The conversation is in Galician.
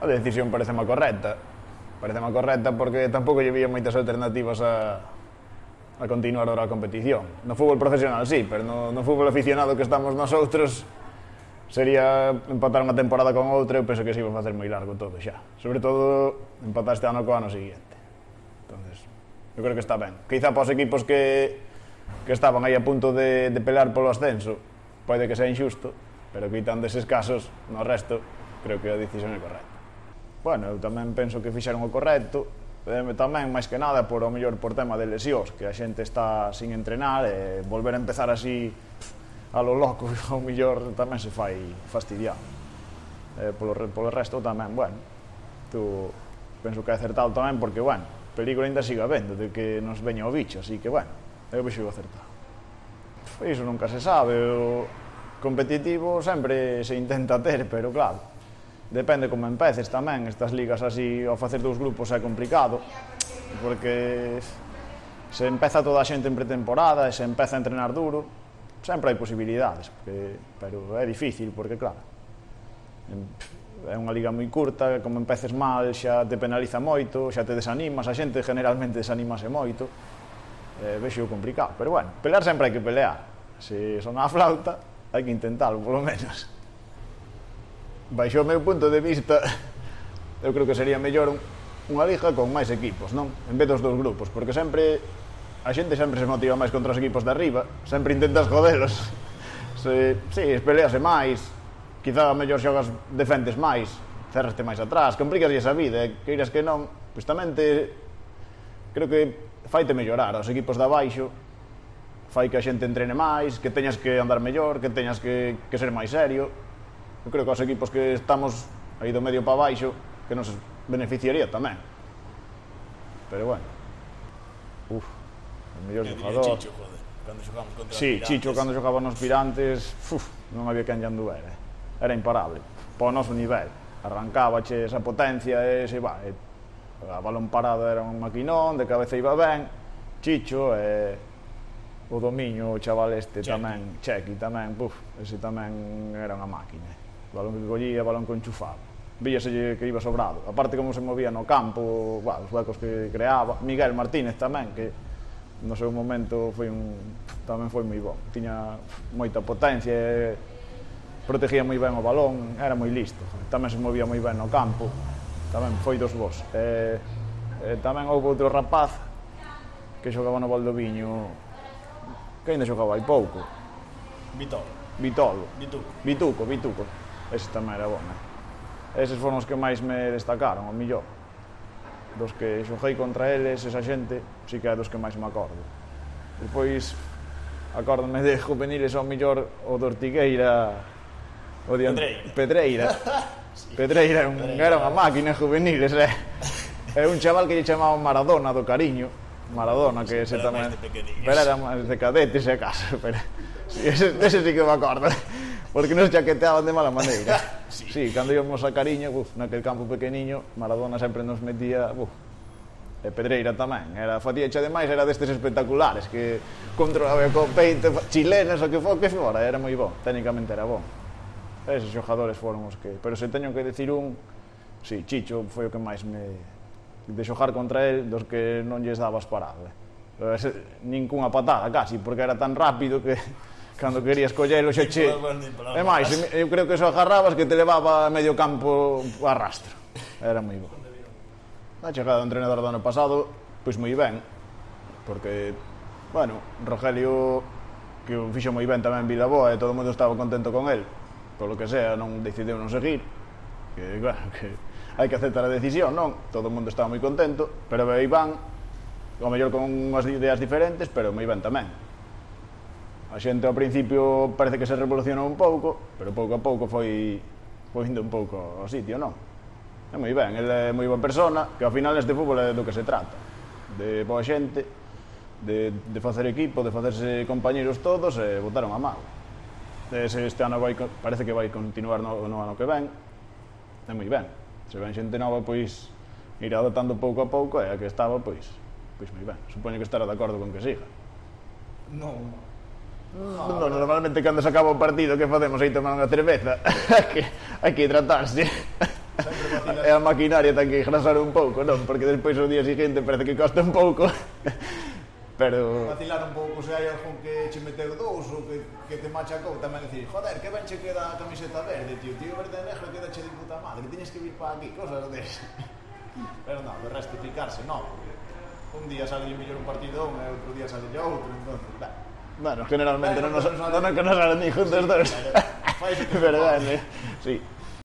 A decisión pareceme correcta. Pareceme correcta porque tampouco lle vía moitas alternativas a continuar ahora a competición. No fútbol profesional sí, pero no fútbol aficionado que estamos nosotros sería empatar unha temporada con outra. Eu penso que se iba a facer moi largo todo xa. Sobre todo empatar este ano co ano seguinte. Entonces, eu creo que está ben. Quizá para os equipos que estaban aí a punto de pelear polo ascenso pode que sea injusto, pero quitando eses casos, no resto creo que a decisión é correcta. Bueno, eu tamén penso que fixeron o correcto, tamén, máis que nada, por tema de lesións, que a xente está sin entrenar, e volver a empezar así a lo loco, ao mellor tamén se fai fastidiado. Polo resto tamén, bueno, penso que é acertado tamén, porque, bueno, peligro ainda siga vendo de que nos veña o bicho, así que, bueno, eu vexo acertado. Iso nunca se sabe, o competitivo sempre se intenta ter, pero claro, depende como empeces tamén. Estas ligas así, ao facer dous grupos é complicado, porque se empeza toda a xente en pretemporada e se empeza a entrenar duro, sempre hai posibilidades, pero é difícil, porque claro, é unha liga moi curta, como empeces mal xa te penaliza moito, xa te desanimas, a xente generalmente desanimase moito, vexo complicado, pero bueno, pelear sempre hai que pelear, se son a flauta hai que intentalo, polo menos. Baixo o meu punto de vista, eu creo que sería mellor unha liga con máis equipos, non? En vez dos dous grupos, porque sempre a xente sempre se motiva máis contra os equipos de arriba, sempre intentas jodelos. Si, pelease máis, quizá a mellor xogas defendes máis, cerraste máis atrás, complicas esa vida, e queiras que non, pois tamén creo que faite mellorar aos equipos de abaixo, fai que a xente entrene máis, que teñas que andar mellor, que teñas que ser máis serio. Eu creo que aos equipos que estamos aí do medio para baixo que nos beneficiaría tamén. Pero bueno, o mellor xogador Chicho, joder, cando xogamos contra sí, Chicho cando xogaba nos Pirantes, non había quen lle anduvera, era imparable para o noso nivel, arrancábache esa potencia e a balón parado era un maquinón, de cabeza iba ben. Chicho o domiño, o chaval este tamén, Chequi tamén, ese tamén era unha máquina. Balón que collía, balón que enchufaba, víaselle que iba sobrado, aparte como se movía no campo, os huecos que creaba. Miguel Martínez tamén, que no seu momento tamén foi moi bon, tiña moita potencia, protegía moi ben o balón, era moi listo, tamén se movía moi ben no campo, tamén foi dos bons. Tamén houve outro rapaz que xogaba no Valdoviño, que ainda xogaba hai pouco, Vituco, ese tamén era bon, eses foron os que máis me destacaron, ao millor dos que xoguei contra eles, esa xente si que é dos que máis me acordo. Depois acórdome de juveniles, ao millor o de Ortigueira, o de Pedreira era unha máquina juveniles, é un chaval que lle chamaban Maradona do cariño, Maradona, que ese tamén, pero era máis de cadetes, se acaso, pero ese sí que me acordo, porque nos chaqueteaban de mala maneira. Sí, cando íbamos a Cariño, naquel campo pequeniño, Maradona sempre nos metía, e Pedreira tamén, facía demais, era destes espectaculares, que controlaba co peito, chilenas, o que fora, era moi bon, técnicamente era bon. Eses xogadores foron os que, pero se teño que decir si, Chicho foi o que máis de xogar contra el, dos que non lles dabas parado, nincunha patada casi, porque era tan rápido que cando querías collelo xa che... E máis, eu creo que só agarrabas que te levaba a medio campo a rastro. Era moi bon. A chegada do entrenador do ano pasado, pois moi ben, porque, bueno, Rogelio, que o fixo moi ben tamén en Vilaboa, e todo o mundo estaba contento con el, polo que sea, non decidiu non seguir, que, bueno, que hai que aceptar a decisión, non? Todo o mundo estaba moi contento, pero veio Iván, ao mellor con unhas ideas diferentes, pero moi ben tamén. A xente ao principio parece que se revolucionou un pouco, pero pouco a pouco foi indo un pouco ao sitio, non? É moi ben, ele é moi boa persona, que ao final neste fútbol é do que se trata, de boa xente, de facer equipo, de facerse compañeros todos, e botaron a mal. Este ano parece que vai continuar no ano que ven, é moi ben. Se ven xente nova, pois irá adoptando pouco a pouco, e a que estaba, pois moi ben. Supoño que estará de acordo con que siga. Non, normalmente cando se acaba o partido, que facemos aí tomar unha cerveza? Hai que hidratarse. e a maquinaria ten que engrasar un pouco, non? Porque despois o día seguinte parece que costa un pouco. Pero... vacilar un pouco se hai algún que che meteu dous ou que te machacou tamén decir, joder, que ben che queda a camiseta verde, tío verde e negro queda che de puta madre, tienes que vir para aquí, cosas de pero non, de resto picarse, non, un día sale mellor un partidón e outro día sale outro, entonces, bueno, generalmente non nos salen ni juntos dos. fai Verdade, sí.